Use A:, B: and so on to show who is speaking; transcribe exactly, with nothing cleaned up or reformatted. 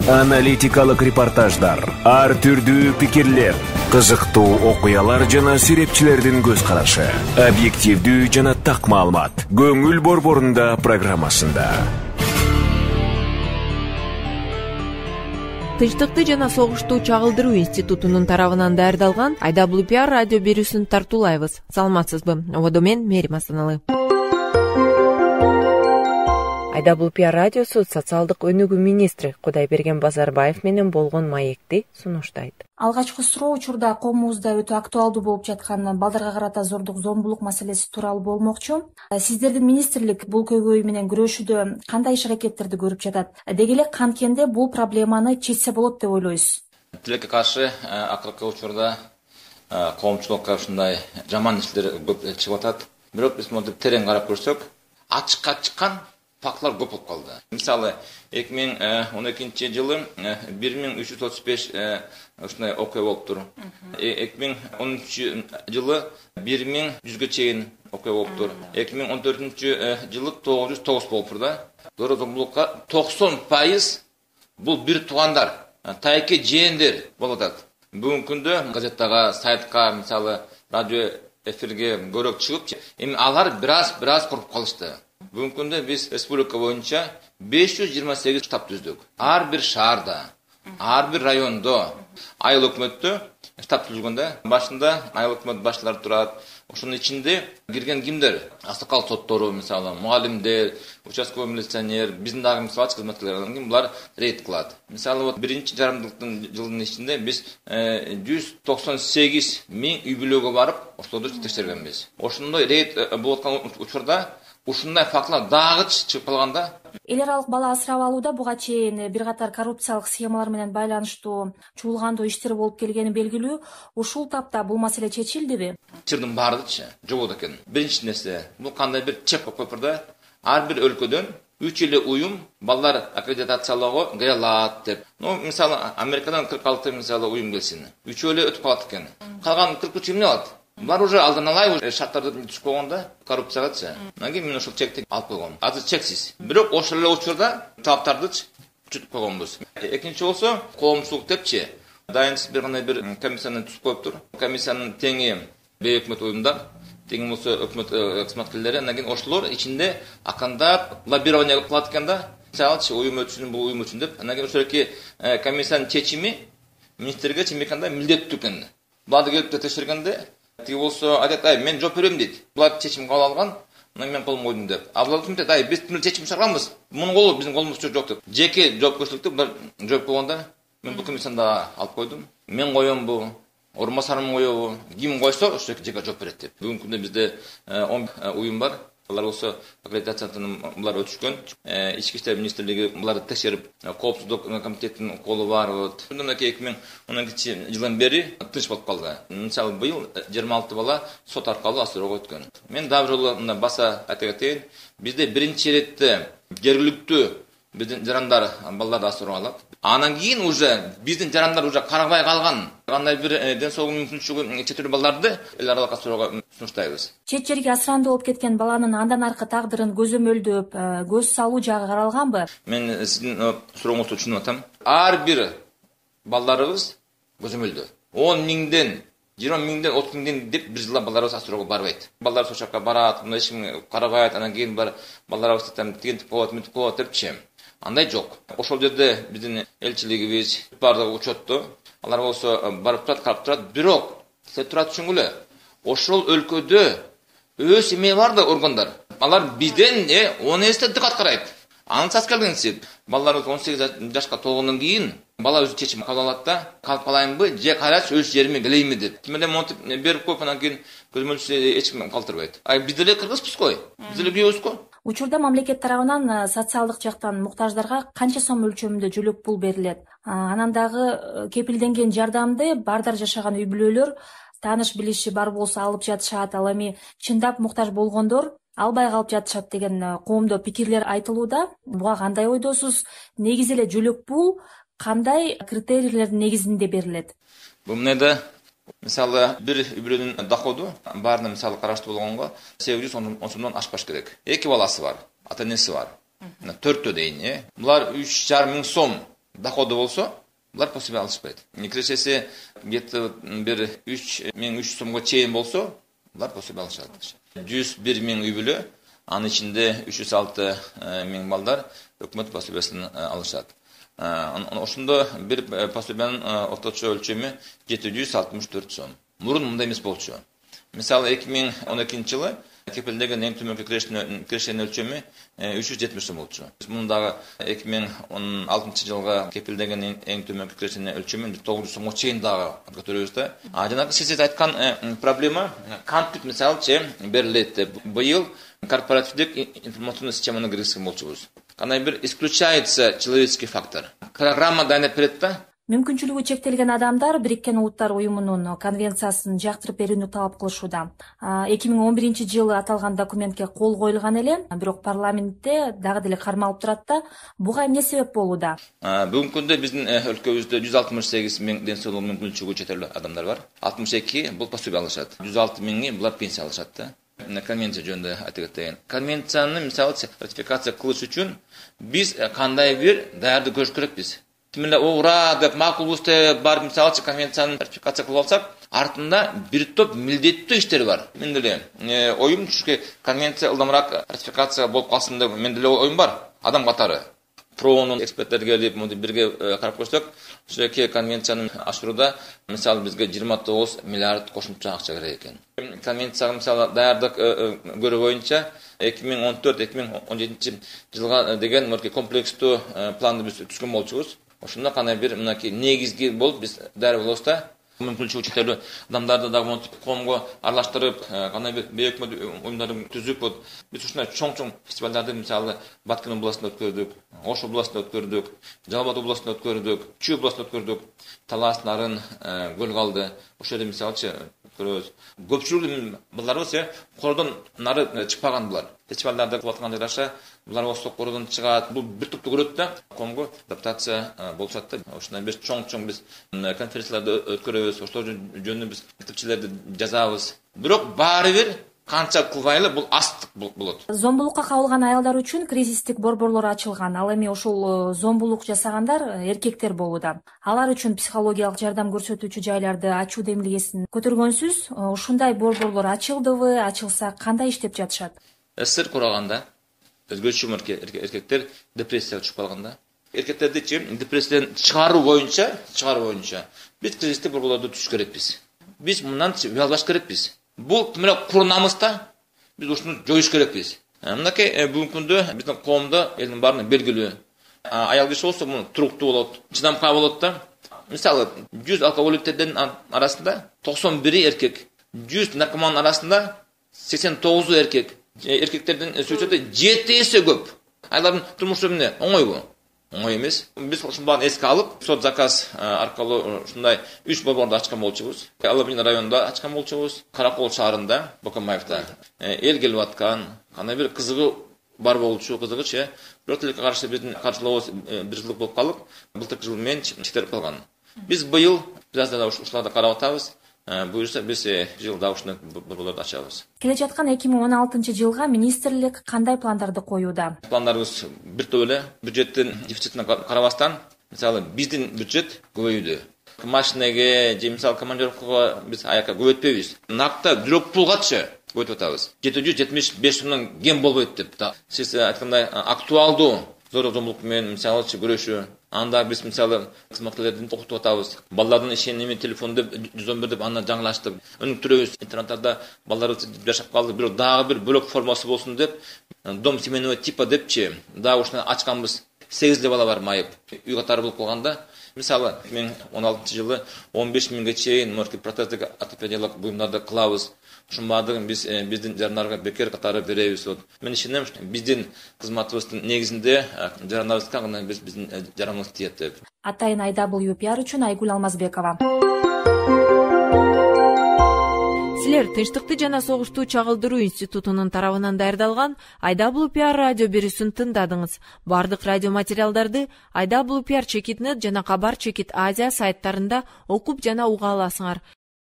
A: Аналитикалык репортаждар, ар түрдүү пикирлер, кызыктуу окуялар жана серепчилердин көз карашы. Объективдүү жана так маалымат. Көңүл борборунда программасында.
B: Тынчтыкты жана согушту чагылдыруу институтунун тарабынан даярдалган ай дабл ю пи ар радио берүүсүн тартуулайбыз. Саламатсызбы? Ободо мен Мерим Асаналы. ай дабл ю пи ар радиосу социалдык өнүгүү министри Кудайберген Базарбаев менен болгон маекти сунуштайт.
C: Алгачкы суроо учурда коомубузда өтө актуалдуу болуп жаткан балдарга карата зордук зомбулук маселеси тууралуу болмокчу. Сиздердин министрлик бул көйгөй менен күрөшүүдө кандай иш аракеттерди көрүп жатат? Деги эле канткенде бул проблеманы чечсе болот деп ойлойсуз?
D: Тилекке каршы акыркы учурда коомчулукка ушундай жаман иштер көп чыгып атат. Бирок биз монтип терең карап көрсөк, ачыкка чыккан фактылар көп болуп калды. Мисалы, эки миң он экинчи жылы бир миң үч жүз отуз беш ушундай окуя болуптур. эки миң он үчүнчү жылы бир миң жүзгө чейин окуя болуптур. эки миң он төртүнчү жылы тогуз жүз тогуз болуптур да. Зоро-зомбулукка токсон пайыз бул бир туугандар, тайке жээндер болуп атат. Бүгүнкү күндө газеттага, сайтка, мисалы, радио эфирге көрөк чыгып, эми алар бираз бираз куруп калышты. Бүгүнкү күндө биз республика боюнча беш жүз жыйырма сегиз штаб түздүк. Ар бир шаарда, ар бир райондо айыл өкмөттө штаб түзүлгөндө, башында айыл өкмөт башчылары турат. Ошонун ичинде кирген кимдер? Аксакал соттору, мисалы, мугалимдер, участковый милиционер, биздин дагы мисалы кызматкерлерден ким булар рейд кылат. Мисалы, вот биринчи жарымдыктын жылдын ичинде биз жүз токсон сегиз миң үй бүлөгө барып, ошолорду текшергенбиз. Ошондой рейд болуп аткан учурда ушундай фактылар дагы чыгып калганда,
C: эл аралык бала асырап алууда буга чейин бир катар коррупциялык схемалар менен байланыштуу чуулгандуу иштер болуп келгени белгилүү. Ушул тапта бул маселе чечилдиби?
D: Чырдын баардычы жок экен. Биринчи нерсе, бул кандай бир чек болуп койпурда, ар бир өлкөдөн үч эле уюм балдар аккредитациялоого кире алат деп. Ну, мисалы, Америкадан кырк алты мисалы уюм келсин. Үчөө эле өтүп калат экен. Калган кырк үч эмне алат? Булар уже алдан алай шарттарды түзүп койгондо коррупциягачы. Анан кийин мен ошол чекти алып койгом. Азыр чексиз. Бирок ошол эле учурда талаптарды чүтүп койгонбуз. Экинчи болсо, коомчулук депчи, дайынсыз бир кандай бир комиссияны түзүп коюптур. Комиссиянын теңи бейөкмөт уюмдар, теңи болсо өкмөт кызматкерлери, анан кийин ошолор ичинде акандап лоббирование кылат экен да. Мисалы, уюм өчүн, бул уюм үчүн деп. Анан кийин ошоки комиссиянын чечими министрге чимекандай милдеттүү экен. Буларды келип текшергенде тиги болсо айтат, ай, мен жооп берем дейт. Булар чечим кабыл алган, анан мен колум койдум деп. А булар айтат, ай, биз бул чечим чыгарганбыз. Мунун колу биздин колубузда жок деп. Жеке жоопкерчиликти булар жооп койгонда, мен бул комиссияны да алып койдум. Мен коембу, орун басарым коебу, ким койсо ошол жеке жооп берет деп. Бүгүнкү күндө бизде он уюм бар. Алар болсо аккредитациядан булар өтүшкөн. Ички иштер министрлиги буларды текшерип, коопсуздук комитетинин колу бар. Мындан эки миң он экинчи жылдан бери тынч болуп калды. Мисалы, быйыл жыйырма алты бала сот аркылуу асыроого өткөн. Мен дагы бир жолу баса айта кетейин, бизде биринчи иретте жергиликтүү биздин жарандар балдарды асырап алат. Анан кийин уже биздин жарандар уже карабай калган кандай бир ден соолугу мүмкүнчүлүгү четирүү балдарды эл аралык асыроого сунуштайбыз.
C: Чет жерге асырандуу болуп кеткен баланын андан аркы тагдырын көзөмөлдөп, көз салуу жагы каралганбы?
D: Мен сиздин сурооңузду түшүнүп атам. Ар бир балдарыбыз көзөмөлдө. он миңден, жыйырма миңден, отуз миңден деп бир жылда балдарыбыз асыроого барбайт. Балдар ошол жака барат, мындай эч ким карабайт, анан кийин бар балдарыбыз тигинтип коет, мынтип коет депчи. Андай жок. Ошол жерде биздин элчилигибиз бардыгы учетту. Алар болсо барып турат, карап турат. Бирок, сиз тура түшүнгүлө. Ошол өлкөдө өз эме бар да органдар. Алар бизден он эсе диккат карайт. Ансыз келгенсип, балдар он сегиз жашка толгондон кийин бала өзү чечим кабыл алат да, калып калайынбы, же кайрач өз жериме келейинби деп. Тимеле монтип берип коюп, анан кийин көзөмөлчүсү эч ким калтырбайт. Ай, биз деле кыргызбыз го. Биз деле күйөөбүз го.
C: Учурда мамлекет тарабынан социалдык жактан муктаждарга канча сом өлчөмүндө жөлөк пул берилет? Анан дагы кепилденген жардамды бардар жашаган үй бүлөлөр тааныш билиши бар болсо алып жатышат, ал эми чындап муктаж болгондор албай калып жатышат деген коомдо пикирлер айтылууда. Буга кандай ойдосуз? Негизи эле жөлөк пул кандай критерийлердин негизинде берилет?
D: Бул эмнеде? Мисалы, бир үй бүлөнүн доходу баарына мисалы караштуу болгонго сегиз жүз он сомдон ашпаш керек. Эки баласы бар, ата энеси бар. төртөө дейин, э. Булар үч жарым миң сом доходу болсо, булар пособие алышпайт. Кирешеси где то бир үч миң үч жүз сомго чейин болсо, булар пособие алышат. жүз бир миң үй бүлө, анын ичинде үч жүз алты миң балдар өкмөт пособиясын алышат. Ошондо бир пособиянын орточо өлчөмү жети жүз алтымыш төрт сом. Мурун мындай эмес болчу. Мисалы эки миң он экинчи жылы кепилдеген эң төмөнкү кирешенин өлчөмү үч жүз жетимиш сом болчу. Мундагы эки миң он алтынчы жылга кепилдеген эң төмөнкү кирешенин өлчөмү тогуз жүз сомго чейин дагы көтөрөбүз да. А жанагы сиз айткан проблема кантип мисалчы берилет деп быйыл корпоративдик информационный системаны киргизген болчубуз. Кандай бир исключается человеческий фактор. Программа дайындап берет да.
C: Мүмкүнчүлүгү чектелген адамдар Бириккен Улуттар уюмунун конвенциясын жактырып берүүнү талап кылышууда. эки миң он биринчи жылы аталган документке кол коюлган эле, бирок парламентте дагы деле кармалып турат да. Буга эмне себеп болууда?
D: Бүгүнкү күндө биздин өлкөбүздө жүз алтымыш сегиз миң ден соолук мүмкүнчүлүгү чектелген адамдар бар. алтымыш эки бул пособие алышат. жүз алты миңи булар пенсия алышат да. Конвенция жөнүндө айтып кетейин. Конвенцияны мисалы ратификация кылыш үчүн биз кандай бир даярдык көрүш керекпиз. Мында ура деп макулбуз деп бар мисалчы конвенцияны ратификация кылып алсак, артында бир топ милдеттүү иштер бар. Мен деле оюм чүнки конвенция ылдамыраак ратификация болуп калсын деп мен деле оюм бар. Адам катары проонун эксперттери келип, мындай бирге карап көрсөк, ошол эки конвенцияны ашырууда мисалы бизге жыйырма тогуз миллиард кошумча акча керек экен. Конвенцияга мисалы даярдык көрүү боюнча эки миң он төрт эки миң он жетинчи жылга деген мындай комплекстүү планды биз түзгөн болчубуз. Ошондо кандай бир мынакей негизги болуп биз даяр болобуз да. Мүмкүнчүлүгү чектелүү адамдарды дагы монтип коомго аралаштырып, кандай бир бейөкмөт уюмдарды түзүп, биз ушундай чоң-чоң фестивалдарды мисалы Баткен областында өткөрдүк, Ош областында өткөрдүк, Жалал Абад областында өткөрдүк, Чүй областында өткөрдүк, Талас, Нарын, Көл Калды. Ошол жерде мисалчы көрөбүз. Көпчүлүгү балдарыбыз кордон нары чыкпаган булар. Фестивалдарды кылып атканга жараша булар осы кордон чыгат. Бул бир топту көрөт да, коомго адаптация болушат да. Ошондой биз чоң-чоң биз конференцияларды өткөрөбүз, ошол жөнүндө биз мектепчилерди жазабыз. Бирок баары бир канча кылбайлы бул астык болот.
C: Зомбулукка кабылган аялдар үчүн кризистик борборлор ачылган. Ал эми ошол зомбулук жасагандар эркектер болууда. Алар үчүн психологиялык жардам көрсөтүүчү жайларды ачуу демилгесин көтөргөнсүз, ушундай борборлор ачылдыбы, ачылса кандай иштеп жатышат?
D: СССР кураганда өзгөчө эркектер депрессияга түшүп калганда, эркектерди депрессиядан чыгаруу боюнча, чыгаруу боюнча биз кризистик борборлорду түзүш керекпиз. Биз мындан уялбаш керекпиз. Бул мына курнамызда биз ушуну жоюш керекпиз. Мынакей бүгүнкү күндө биздин коомдо элдин баарына белгилүү. Аял киши болсо муну туруктуу болот, чыдамкай болот да. Мисалы жүз алкоголиктердин арасында токсон бири эркек, жүз наркоман арасында сексен тогузу эркек. Эркектердин сөзүндө жети эсе көп. Алардын турмушу эмне? Оңойбу? Оңой эмес. Биз ушуну баарын эске алып, сот заказ аркылуу ушундай үч борборду ачкан болчубуз. Алабин районунда ачкан болчубуз, Каракол шаарында, Бокомаевда. Эл келип аткан, кандай бир кызыгы бар болчу, кызыгычы. Бирок тилекке каршы биздин каршылообуз бир жылдык болуп калып, былтыркы жылы менен чектелип калган. Биз быйыл biraz да ушуларды карап атабыз. Буюрса биз жылда ушуну борборлорду ачабыз.
C: Келе жаткан эки миң он алтынчы жылга министрлик кандай пландарды коюуда?
D: Пландарыбыз бир топ эле. Бюджеттин дефицитине карабастан, мисалы биздин бюджет көбөйдү. Машинеге, же мисалы командировкага биз аяка көбөйтпөйбүз. Накта жүрөк пулгачы көбөйтүп атабыз. жети жүз жетимиш беш сомдон кем болбойт деп. Сиз айткандай актуалдуу зорлук-зомбулук менен мисалы күрөшүү. Анда биз мисалы кызматкерлердин окутуп атабыз. Балдардын ишеними телефонду жүз он бир деп аны жаңылаштык. Өнүктүрөбүз. Интернаттарда балдарыбыз жашап калды, бирок дагы бир бөлөк формасы болсун деп, дом семейного типа депчи, дагы ушуну ачканбыз. сегиз бала бар майып. Үй катары болуп калганда, мисалы эки миң он алтынчы жылы он беш миңге чейин морки протездик ортопедиялык буюмдарды кылабыз. Ушун баардыгын биз биздин жарандарга бекер катары беребиз. Мен ишенем, биздин кызматыбыздын негизинде жарандарыбызга гана биз биздин жараныбыз тиет деп.
C: Атайын ай дабл ю пи ар үчүн Айгүл Алмазбекова.
B: Силер Тынчтыкты жана согушту чагылдыруу институтунун тарабынан даярдалган ай дабл ю пи ар радио берүүсүн тыңдадыңыз. Бардык радио материалдарды ай дабл ю пи ар чекит точка нет жана Кабар чекит Азия сайттарында окуп жана уга аласыңар.